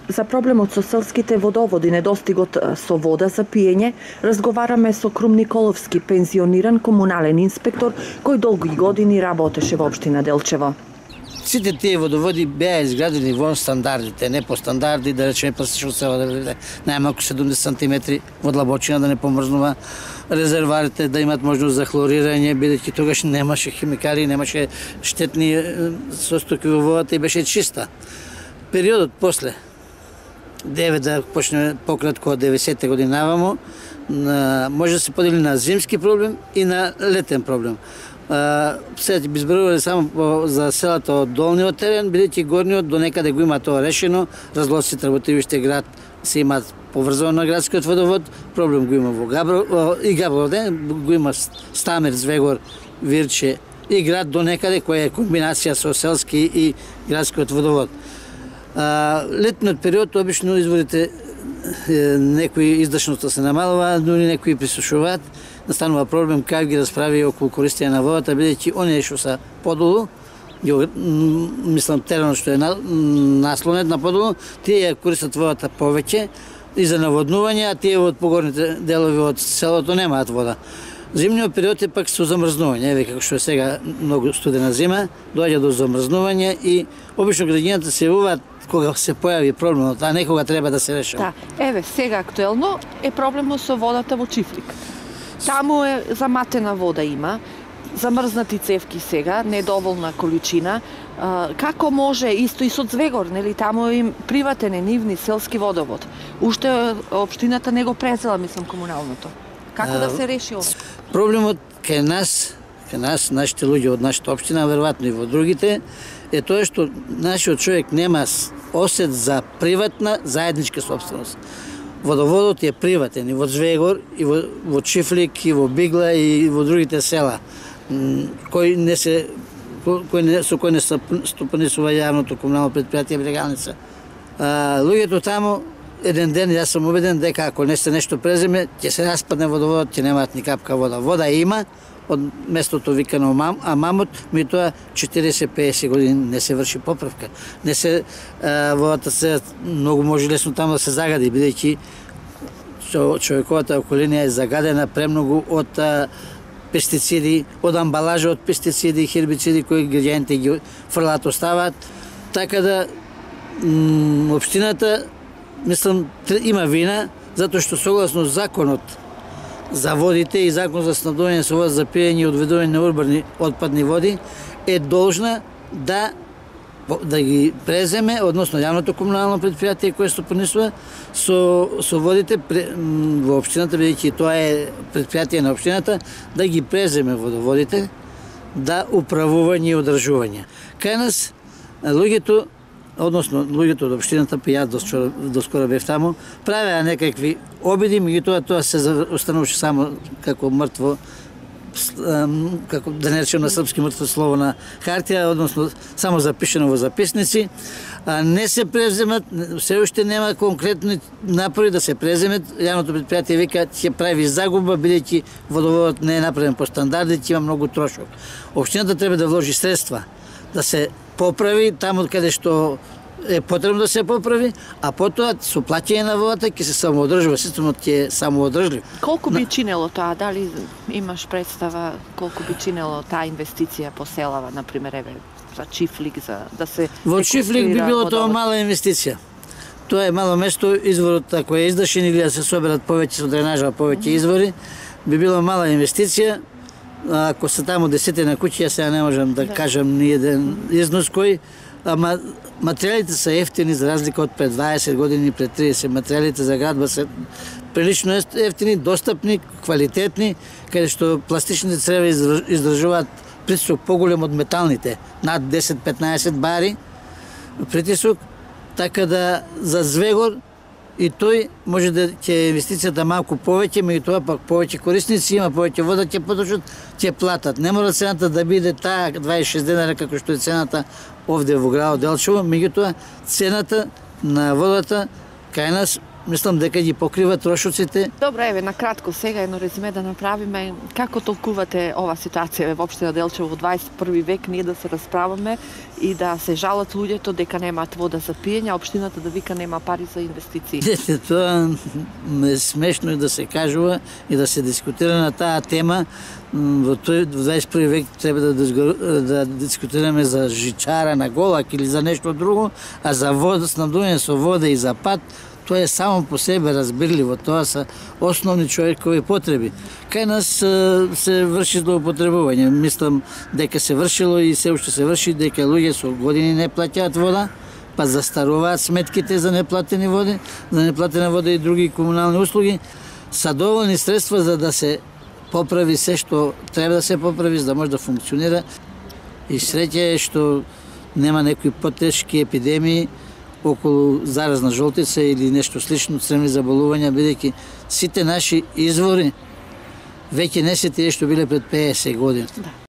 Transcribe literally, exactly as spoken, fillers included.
за проблемот со селските водоводи, недостигот со вода за пиење, разговараме со Крум Николовски, пензиониран комунален инспектор кој долги години работеше во општина Делчево. Сите тие водоводи беа изградени во стандардите, не по стандарди, да речеме пластично село, да биде најмалку седумдесет сантиметри во длабочина, да не помрзнува резерварите, да имат можност за хлорирање, бидејќи тогаш немаше химикали, немаше штетни состојки во водата и беше чиста. Периодот после, девет да почне пократко од деветдесетте години навамо, може да се подели на зимски проблем и на летен проблем. Сега би изборувале само за селата од долниот терен, бидејќи горниот до некаде го има тоа решено, разлоците работивиште град се имаат поврзано на градскиот водовод, проблем го има во Габро и Габровде, го има Стамер, Звегор, Вирче и град до некаде која е комбинација со селски и градскиот водовод. Летниот период обично изворите некои издашноста се намалува, дури некои присушуваат, настанува проблем как ги расправи околу користење на водата, бидејќи оние што се подолу, мислам теренот што е наслонет на подолу, тие ја користат водата повеќе и за наводнување, а тие од погорните делови од селото немаат вода. Зимниот период е пак со замрзнување, еве како што е сега многу студена зима, доаѓа до замрзнување и обично граѓаните се јавуваат кога се појави проблемот, а не кога треба да се решава. Да, еве сега актуелно е проблемот со водата во Чифлик. Таму е заматена вода има, замрзнати цевки сега, недоволна количина. Како може, исто и со Звегор, нели, таму е приватен е нивни селски водовод. Уште општината не го презела, мислам, комуналното. Како да се реши ова? Проблемот кај нас, кај нас, нашите луѓе од нашата општина, веројатно и во другите, е тоа што нашиот човек нема осет за приватна заедничка собственост. Водоводот е приватен и во Звегор, и во, во Чифлик, и во Бигла, и во другите села, кој не се, кој не, со кој не стопанисува јавното комунално предпријатие Брегалница. А, луѓето таму, еден ден, јас сум убеден дека ако не се нешто преземе, ќе се распадне водоводот, ќе немаат ни капка вода. Вода има, од местото викано Амамот, меѓутоа четириесет до пеесет години не се врши поправка. Не се а, водата се многу може лесно таму да се загади, бидејќи човековата околина е загадена премногу од а, пестициди, од амбалажа од пестициди и хербициди кои граѓаните ги фрлаат, оставаат. Така да општината, мислам, има вина затоа што согласно законот за водите и закон за снабдување со вода за пиење и одведување на урбани отпадни води е должна да да ги преземе, односно јавното комунално предпријатие кое стопанисува со со водите во општината, бидејќи тоа е предпријатие на општината, да ги преземе водоводите, да управување и одржување. Кај нас луѓето, односно луѓето од општината, па јас доскоро бев таму, правеа некакви обиди, меѓутоа тоа се остануваше само како мртво, како да не речем на српски мртво слово на хартија, односно само запишено во записници, а не се преземат, се уште нема конкретни напори да се преземат. Јавното предпријатие вика ќе прави загуба, бидејќи водоводот не е направен по стандарди, ќе има многу трошок. Општината треба да вложи средства да се поправи таму каде што е потребно да се поправи, а потоа со плаќање на водата ќе се самоодржува, системот ќе е самоодржлив. Колку би чинело тоа? Дали имаш представа колку би чинело таа инвестиција по селава, на пример, еве, за Чифлик, за да се Во Чифлик би било тоа мала инвестиција. Тоа е мало место, изворот ако е издашен или да се соберат повеќе со дренажа, повеќе извори, би било мала инвестиција. Ако се таму десетина куќи, ја сега не можам да, да. кажам ни еден износ кој, ама материјалите се ефтини за разлика од пред дваесет години, пред триесет, материјалите за градба се прилично ефтини, достапни, квалитетни, каде што пластичните црева издржуваат притисок поголем од металните, над десет до петнаесет бари притисок, така да за Звегор и тој може да ќе инвестицијата малку повеќе, меѓутоа пак повеќе корисници има, повеќе вода ќе потрошат, ќе платат. Не мора цената да биде таа дваесет и шест денара како што е цената овде во градот Делчево, меѓутоа цената на водата кај нас мислам дека ги покрива трошоците. Добро, еве на кратко сега едно резиме да направиме. Како толкувате ова ситуација во општина Делчево во дваесет и први век, ние да се расправаме и да се жалат луѓето дека немаат вода за пиење, а општината да вика нема пари за инвестиции? Дете, тоа е смешно и да се кажува и да се дискутира на таа тема. Во тој дваесет и први век треба да, да дискутираме за жичара на Голак или за нешто друго, а за вода, снабдување со вода и за пат, тоа е само по себе разбирливо, тоа се основни човекови потреби. Кај нас се врши злоупотребување, мислам дека се вршило и се уште се врши, дека луѓе со години не плаќаат вода, па застаруваат сметките за неплатени води, за неплатена вода и други комунални услуги, са доволни средства за да се поправи се што треба да се поправи, за да може да функционира. И среќа е што нема некои потешки епидемии околу заразна жолтица или нешто слично, цревни заболувања, бидејќи сите наши извори веќе не се тие што биле пред пеесет години. Да.